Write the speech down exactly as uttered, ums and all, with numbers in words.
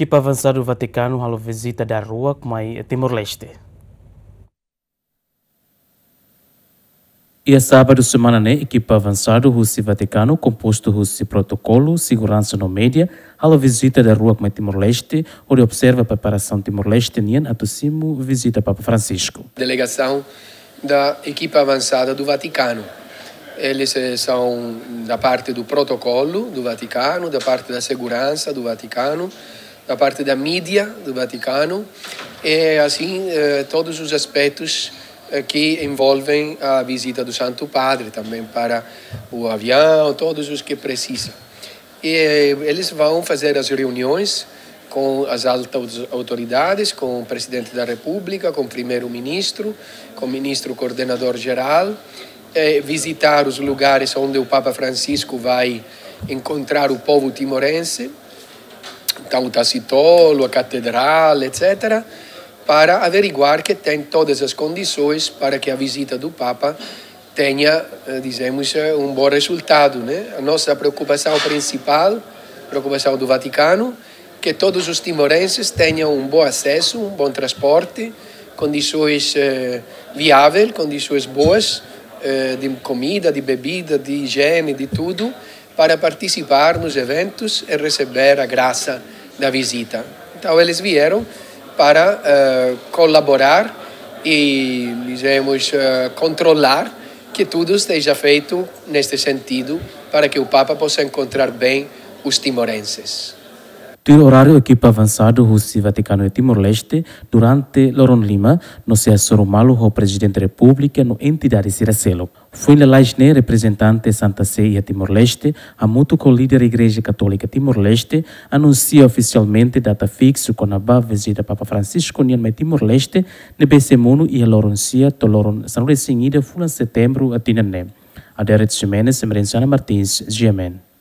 Ekipa avansadu Vatikanu halo vizita daruak mai Timor-Leste. Iha sábadu semana ne'e, ekipa avansadu husi Vatikanu, kompostu husi protokolu, seguransa no média, halo vizita daruak mai Timor-Leste, hodi observa preparasaun Timor-Leste nian atu simu vizita Papa Francisco. Delegação da equipa avançada do Vaticano. Eles, eh, são da parte do protocolo do Vaticano, da parte da segurança do Vaticano, da parte da mídia do Vaticano, e assim, eh, todos os aspectos, eh, que envolvem a visita do Santo Padre, também para o avião, todos os que precisam. E eles vão fazer as reuniões com as altas autoridades, com o Presidente da República, com o Primeiro-Ministro, com o Ministro Coordenador Geral, eh, visitar os lugares onde o Papa Francisco vai encontrar o povo timorense, então o Tacitolo, a Catedral, et cetera, para averiguar que tem todas as condições para que a visita do Papa tenha, eh, dizemos, eh, um bom resultado, né? A nossa preocupação principal, preocupação do Vaticano, que todos os timorenses tenham um bom acesso, um bom transporte, condições, eh, viável, condições boas, eh, de comida, de bebida, de higiene, de tudo, para participar nos eventos e receber a graça da visita. Então, eles vieram para, eh, colaborar e, dizemos, eh, controlar que tudo esteja feito neste sentido, para que o Papa possa encontrar bem os timorenses. Tuir oráriu, ekipa avansadu husi Vatikanu iha Timor-Leste durante loron lima, no sei hasoru malu ho Prezidente Repúblika no entidade sira seluk. Foin lalais ne'e, reprezentante Santa Sé iha Timor-Leste, hamutuk ho líder Igreja Katólika Timor-Leste, anunsia ofisialmente data fiksu kona-ba vizita Papa Francisco nian mai Timor-Leste, ne'ebé sei monu iha loron sia to'o loron sanulu-resin-ida fulan Setembru tinan ne'e. Adérito Ximenes, Emerenciana Martins, G M N.